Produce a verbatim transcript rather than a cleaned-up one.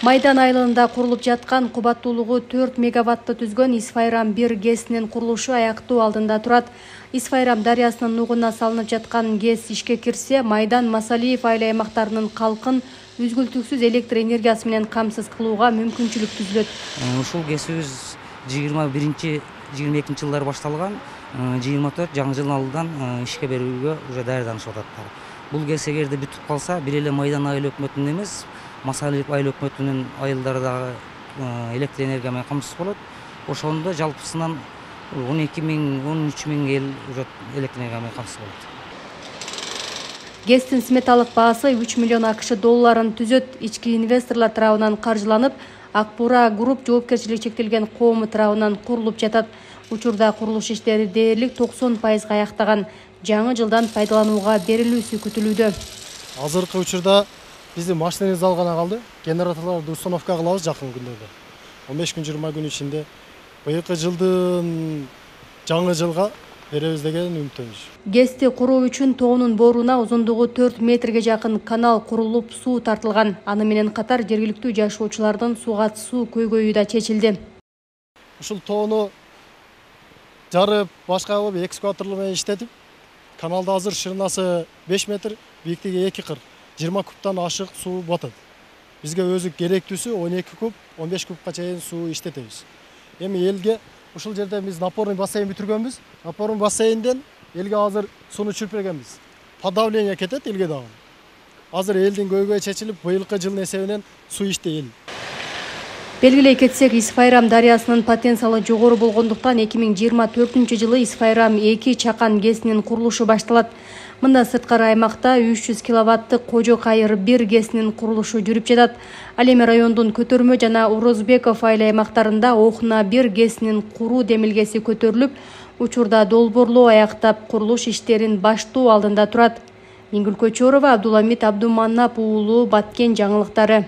Майдан айылында курулуп жаткан кубаттуулугу төрт мегаватты түзгөн Исфайрам бир ГЭСинин курулушу аяктоо алдында турат. Исфайрам дарыясынын нугуна салынып жаткан ГЭС ишке кирсе, Майдан Масалиев айыл аймактарынын калкын үзгүлтүксүз электр энергиясы менен камсыз кылууга мүмкүнчүлүк түзүлөт. Ушул ГЭСибиз жыйырма биринчи жыйырма экинчи жылдары башталган, жыйырма төрт жаңы жылдын алдынан ишке берүүгө уже даярданышып атат. Бул ГЭС эгерде бүтүп калса, бир эле Майдан айыл өкмөтүнүн эмес, Масалиев айыл өкмөтүнүн айылдары дагы электр энергия менен камсыз болот. Ошондо жалпысынан он эки миң он үч миң эл уже электр энергия менен камсыз болот. ГЭСтин сметалык баасы үч миллион АКШ долларын түзөт. Ички инвесторлор тарабынан каржыланып, Акбура Груп жоопкерчилиги чектелген коому тарабынан курулуп жатат. Учурда курулуш иштери дээрлик токсон пайызга аяктаган. Жаңы жылдан пайдаланууга берилүүсү күтүлүүдө. Азыркы учурда биздин машинабыз ал гана калды. Генераторлорду установка кылабыз жакын күндөрдө. он беш күн жыйырма күн ичинде быйылкы жылдын жаңы жылга беребиз деген үмүттөнүз. ГЭСти куруу үчүн тоонун бооруна узундугу төрт метрге жакын канал курулуп, суу тартылган. Аны менен катар жергиликтүү жашоочулардын суга суу көйгөйү да чечилди. Ушул тоону жарып, башка кылып экскаваторлор менен иштетип, каналда азыр шырынасы беш метр, бийиктиги эки кыр, жыйырма кубтан ашык суу батат. Бизге өзү керектүүсү он эки куб, он беш кубка чейин суу иштетебиз. Эми элге ушул жерде биз напорный бассейн бүтүргөнбүз. Напорный бассейнден элге азыр сууну чүрүп бергенбиз. Подавление кетет элге дагы. Азыр элдин көйгөйү чечилип, быйылкы жылдын эсебинен суу ичти эл. Белгилей кетсек, Исфайрам дарыясынын потенциалы жогору болгондуктан эки миң жыйырма төртүнчү жылы Исфайрам эки чакан ГЭСинин курулушу башталат. Мында сырткары аймакта үч жүз киловаттык Кожо Кайыр бир ГЭСинин курулушу жүрүп жатат. Ал эми райондун Көтөрмө жана Орозбеков айыл аймактарында Охна бир ГЭСинин куруу демилгеси көтөрүлүп, учурда долбоорлоо аяктап, курулуш иштерин баштоо алдында турат. Миңгүл Көчөрова, Абдуламит Абдуманап уулу, Баткен жаңылыктары.